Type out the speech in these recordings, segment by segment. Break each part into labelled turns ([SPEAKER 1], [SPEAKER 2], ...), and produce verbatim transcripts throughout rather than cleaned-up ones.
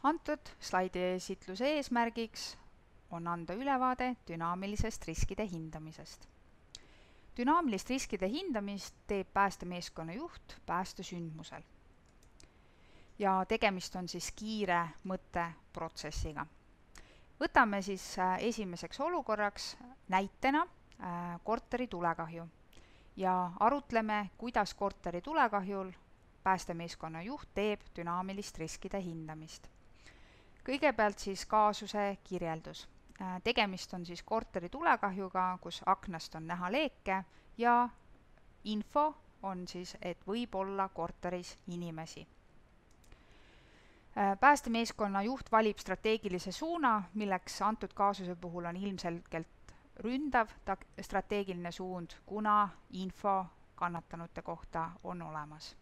[SPEAKER 1] Antud slaidi esitluse eesmärgiks on anda ülevaade dünaamilisest riskide hindamisest. Dünaamilist riskide hindamist teeb päästemeeskonna juht päästesündmusel. Ja tegemist on siis kiire mõtteprotsessiga. Võtame siis esimeseks olukorraks näitena korteri tulekahju ja arutleme, kuidas korteri tulekahjul päästemeeskonna juht teeb dünaamilist riskide hindamist. Kõigepealt siis kaasuse kirjeldus. Tegemist on siis korteri tulekahjuga, kus aknast on näha leeke ja info on siis, et võib olla korteris inimesi. Päästemeeskonna juht valib strateegilise suuna, milleks antud kaasuse puhul on ilmselgelt ründav strateegiline suund, kuna info kannatanute kohta on olemas.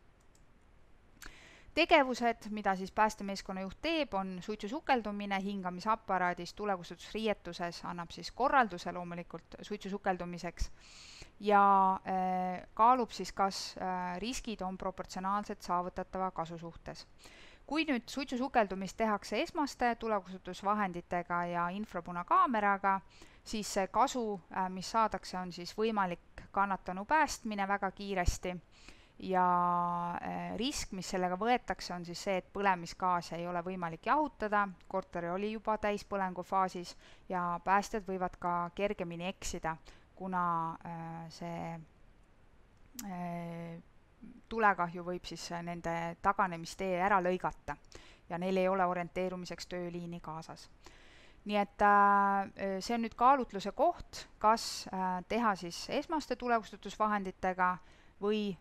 [SPEAKER 1] Tegevused, mida siis päästemeeskonna juht teeb, on suitsusukeldumine hingamisaparaadis tulekustutusriietuses, annab siis korralduse loomulikult suitsusukeldumiseks ja kaalub siis, kas riskid on proportsionaalselt saavutatava kasu suhtes. Kui nüüd suitsusukeldumist tehakse esmaste tulekustutusvahenditega ja infrapunakaameraga, siis see kasu, mis saadakse, on siis võimalik kannatanu päästmine väga kiiresti ja risk, mis sellega võetakse, on siis see, et põlemisgaasi ei ole võimalik jahutada, korter oli juba täispõlengu faasis ja päästjad võivad ka kergemini eksida, kuna see tulekahju võib siis nende taganemistee ära lõigata ja neil ei ole orienteerumiseks tööliini kaasas. Nii et see on nüüd kaalutluse koht, kas teha siis esmaste tulekustutusvahenditega või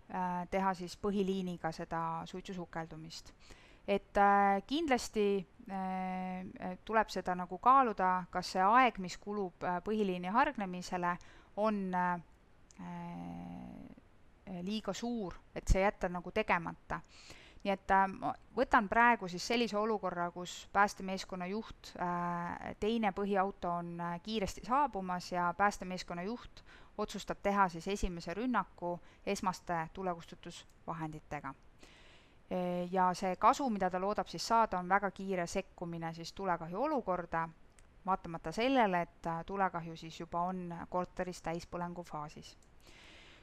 [SPEAKER 1] teha siis põhiliiniga seda suitsusukeldumist. Et kindlasti tuleb seda nagu kaaluda, kas see aeg, mis kulub põhiliini hargnemisele, on liiga suur, et see jätta nagu tegemata. Nii et võtan praegu siis sellise olukorra, kus päästemeeskonna juht, teine põhiauto on kiiresti saabumas ja päästemeeskonna juht otsustab teha siis esimese rünnaku esmaste tulekustutusvahenditega. Ja see kasu, mida ta loodab siis saada, on väga kiire sekkumine siis tulekahju olukorda, vaatamata sellele, et tulekahju siis juba on korteris täispõlengu faasis.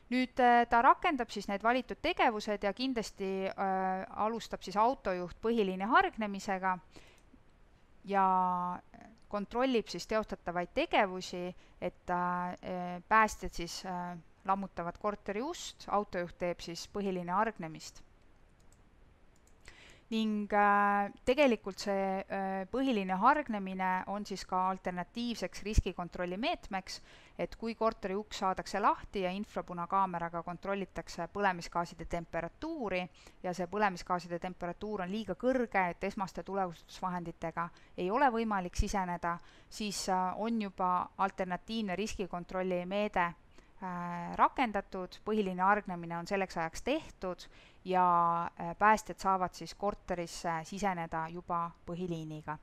[SPEAKER 1] Nüüd ta rakendab siis need valitud tegevused ja kindlasti äh, alustab siis autojuht põhiliini hargnemisega ja kontrollib siis teostatavaid tegevusi, et äh, päästjad siis äh, lammutavad korteri ust, autojuht teeb siis põhiliini hargnemist. Ning äh, tegelikult see äh, põhiline hargnemine on siis ka alternatiivseks riskikontrolli meetmeks, et kui korteri uks saadakse lahti ja infrapunakaameraga kontrollitakse põlemisgaaside temperatuuri ja see põlemisgaaside temperatuur on liiga kõrge, et esmaste tulekustutusvahenditega ei ole võimalik siseneda, siis äh, on juba alternatiivne riskikontrolli meede äh, rakendatud, põhiline hargnemine on selleks ajaks tehtud ja päästjad saavad siis korterisse siseneda juba põhiliiniga.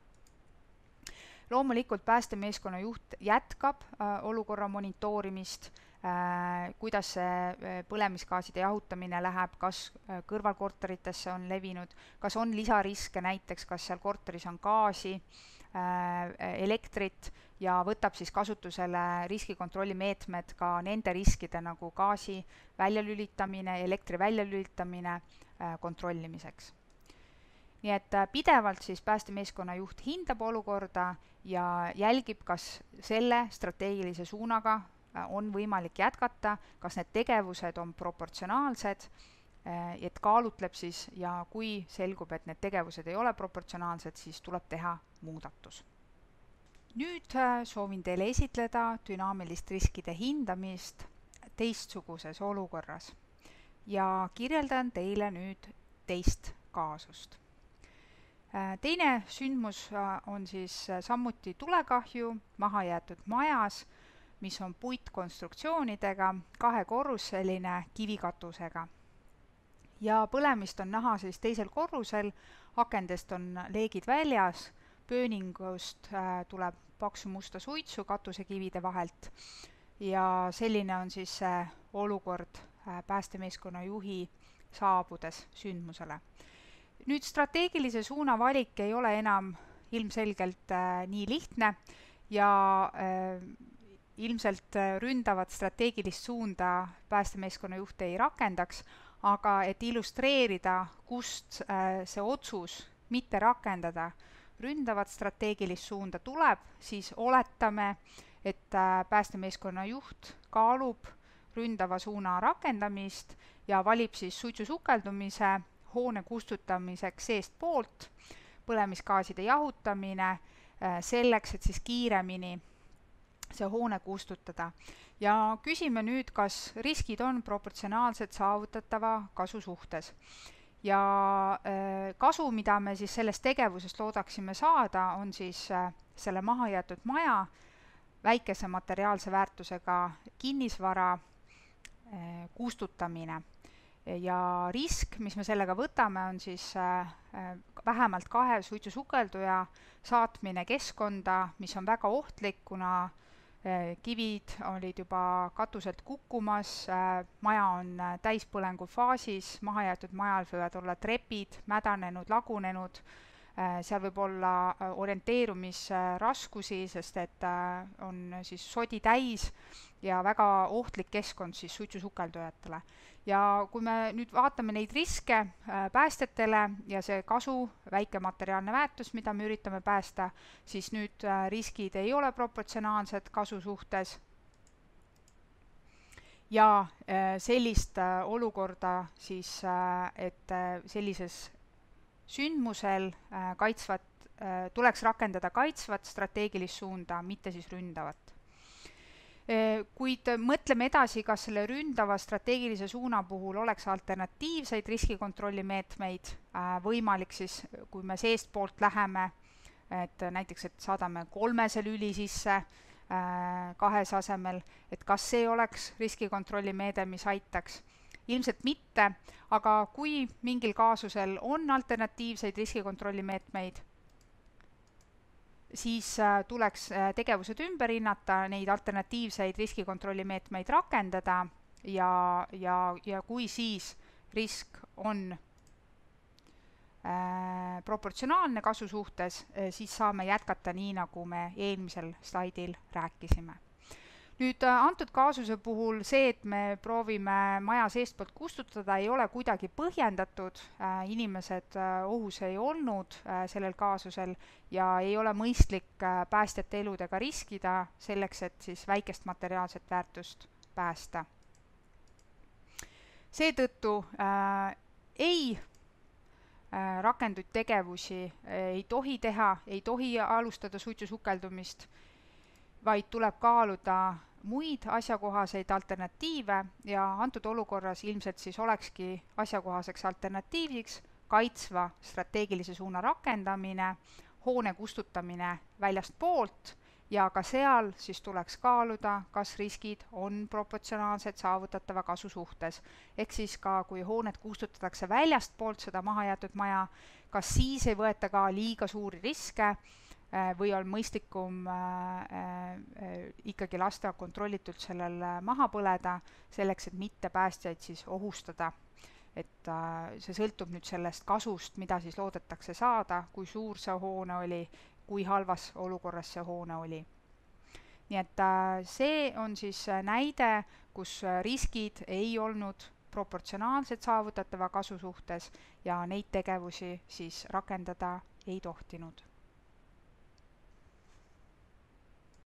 [SPEAKER 1] Loomulikult päästemeeskonna juht jätkab äh, olukorra monitoorimist, äh, kuidas see põlemisgaaside jahutamine läheb, kas äh, kõrvalkorteritesse on levinud, kas on lisariske, näiteks kas seal korteris on gaasi, äh, elektrit ja võtab siis kasutusele riskikontrolli meetmed ka nende riskide nagu gaasi väljalülitamine, elektri väljalülitamine äh, kontrollimiseks. Nii et pidevalt siis päästemeeskonna juht hindab olukorda ja jälgib, kas selle strateegilise suunaga on võimalik jätkata, kas need tegevused on proportsionaalsed, et kaalutleb siis ja kui selgub, et need tegevused ei ole proportsionaalsed, siis tuleb teha muudatus. Nüüd soovin teile esitleda dünaamilist riskide hindamist teistsuguses olukorras ja kirjeldan teile nüüd teist kaasust. Teine sündmus on siis samuti tulekahju mahajäetud majas, mis on puitkonstruktsioonidega, kahekorruseline kivikatusega. Ja põlemist on näha siis teisel korrusel, akendest on leegid väljas, pööningust tuleb paksu musta suitsu katusekivide vahelt ja selline on siis olukord päästemeeskonna juhi saabudes sündmusele. nüüd strateegilise suuna valik ei ole enam ilmselgelt äh, nii lihtne ja äh, ilmselt ründavat strateegilist suunda päästemeeskonna juht ei rakendaks, aga et illustreerida, kust äh, see otsus mitte rakendada ründavat strateegilist suunda tuleb, siis oletame, et äh, päästemeeskonna juht kaalub ründava suuna rakendamist ja valib siis suitsusukeldumise hoone kustutamiseks seestpoolt, põlemisgaaside jahutamine äh, selleks, et siis kiiremini see hoone kustutada. Ja küsime nüüd, kas riskid on proportsionaalselt saavutatava kasu suhtes. Ja äh, kasu, mida me siis sellest tegevusest loodaksime saada, on siis äh, selle mahajäetud maja, väikese materiaalse väärtusega kinnisvara äh, kustutamine. Ja risk, mis me sellega võtame, on siis äh, vähemalt kahe suitsusukelduja saatmine keskkonda, mis on väga ohtlik, kuna kivid olid juba katuselt kukkumas, maja on täispõlengu faasis, mahajäetud majal võivad olla trepid, mädanenud, lagunenud, seal võib olla orienteerumisraskusi, sest et on siis sodi täis ja väga ohtlik keskkond siis suitsusukeldujatele. Ja kui me nüüd vaatame neid riske päästjatele ja see kasu, väike materiaalne väärtus, mida me üritame päästa, siis nüüd riskid ei ole proportsionaalsed kasu suhtes. Ja sellist olukorda siis, et sellises sündmusel kaitsvat, tuleks rakendada kaitsvat strateegilist suunda, mitte siis ründavat. Kuid mõtleme edasi, kas selle ründava strateegilise suuna puhul oleks alternatiivseid riskikontrolli meetmeid võimalik siis, kui me seestpoolt läheme, et näiteks, et saadame kolmese lüli sisse kahes asemel, et kas see oleks riskikontrolli meede, mis aitaks? Ilmselt mitte, aga kui mingil kaasusel on alternatiivseid riskikontrolli meetmeid, siis tuleks tegevused ümber hinnata, neid alternatiivseid riskikontrolli meetmeid rakendada ja, ja, ja kui siis risk on äh, proportsionaalne kasu suhtes, siis saame jätkata nii, nagu me eelmisel slaidil rääkisime. Nüüd antud kaasuse puhul see, et me proovime maja seestpoolt kustutada, ei ole kuidagi põhjendatud, inimesed ohus ei olnud sellel kaasusel ja ei ole mõistlik päästjate eludega riskida selleks, et siis väikest materiaalset väärtust päästa. Seetõttu äh, ei äh, rakenduid tegevusi ei tohi teha, ei tohi alustada suitsusukeldumist, vaid tuleb kaaluda muid asjakohaseid alternatiive ja antud olukorras ilmselt siis olekski asjakohaseks alternatiiviks kaitsva strateegilise suuna rakendamine, hoone kustutamine väljast poolt ja ka seal siis tuleks kaaluda, kas riskid on proportsionaalsed saavutatava kasu suhtes. Ehk siis ka, kui hoonet kustutatakse väljast poolt seda mahajäetud maja, kas siis ei võeta ka liiga suuri riske või on mõistlikum ikkagi lasta kontrollitult sellel maha põleda, selleks, et mitte päästjaid siis ohustada. Et see sõltub nüüd sellest kasust, mida siis loodetakse saada, kui suur see hoone oli, kui halvas olukorras see hoone oli. Nii et see on siis näide, kus riskid ei olnud proportsionaalselt saavutatava kasu suhtes ja neid tegevusi siis rakendada ei tohtinud.